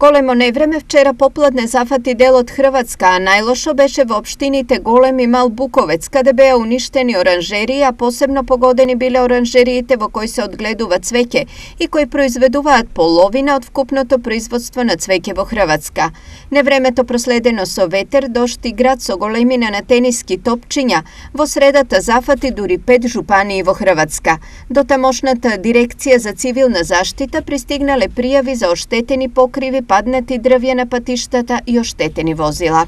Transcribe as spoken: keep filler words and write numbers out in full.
Големо невреме вчера попладне зафати дел од Хрватска, а најлошо беше во општините Голем и Мал Буковец, каде беа уништени оранжерии, а посебно погодени биле оранжериите во кои се одгледува цвеќе и кои произведуваат половина од вкупното производство на цвеќе во Хрватска. Невремето проследено со ветер, дожд и град со големина на тениски топчиња, во средата зафати дури пет жупании во Хрватска. До тамошната дирекција за цивилна заштита пристигнале пријави за оштетени покриви, паднати дрвја на патиштата и оштетени возила.